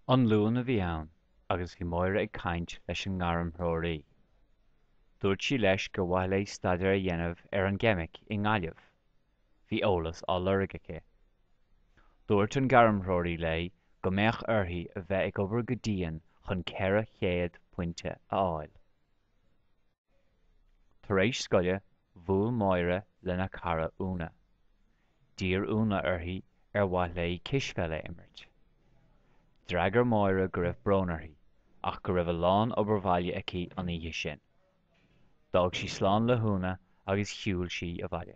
An Luan a bhí ann agus bhí Máire ag caint leis an ngairmthreoraí. Dúirt sí leis gur mhaith léi staidéar a dhéanamh ar an gceimic i nGaillimh. Bhí eolas á lorg aici. Dúirt an gairmthreoraí léi go mbeadh uirthi a bheith ag obair go dian chun 400 pointe a fháil. Tar éis scoile, bhuail Máire lena cara Úna. D'iarr Úna uirthi ar mhaith léi cispheil a imirt. D'fhreagair Máire go raibh brón uirthi, ach go raibh a lán obair bhaile aici an oíche sin. D'fhág sí slán le hÚna agus shiúil sí abhaile.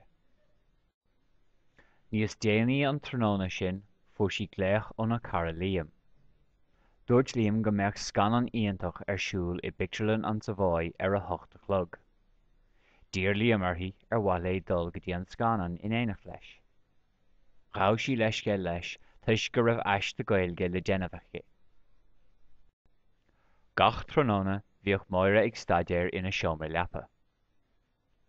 Níos déanaí an tráthnóna sin fuair sí glaoch óna cara Liam. Dúirt Liam go mbeadh scannán iontach ar siúl i bpictiúrlann an Savoy ar a hocht a chlog. D'iarr Liam uirthi ar mhaith léi dul go dtí an scannán in éineacht leis. Ghabh sí leithscéal leis toisc go raibh aiste Gaeilge le déanamh aici. Gach tráthnóna bhíodh Máire ag staidéar ina seomra leapa.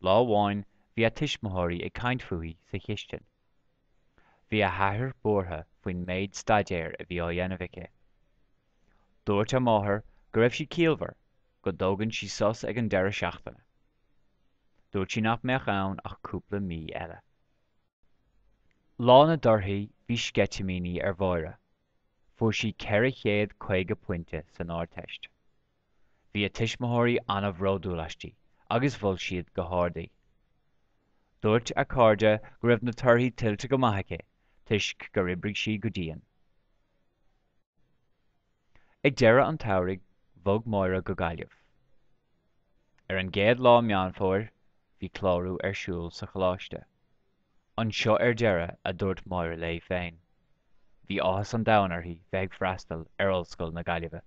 Lá amháin bhí a tuismitheoirí ag caint fúithi sa chistin. Bhí a hathair buartha faoin méid staidéir a bhí á dhéanamh aici. Dúirt a máthair go raibh sí ciallmhar, go dtógann sí sos ag an deireadh seachtaine. Dúirt sí nach mbeadh ann ach cúpla mí eile. Lá na dtorthaí bhí sceitimíní ar Mháire. Fuair sí 450 pointe san Ardteist. Bhí a tuismitheoirí an-bhródúil aisti agus mhol siad go hard í. Dúirt a cairde go raibh na torthaí tuillte go maith aici toisc gur oibrigh sí go dian. Ag deireadh an tsamhraidh bhog Máire go Gaillimh. Ar an gcéad lá Meán Fómhair bhí clárú ar siúl sa choláiste. Anseo ar deireadh, a dúirt Máire léi féin. Bhí áthas an domhain uirthi bheith ag freastal ar Ollscoil na Gaillimhe.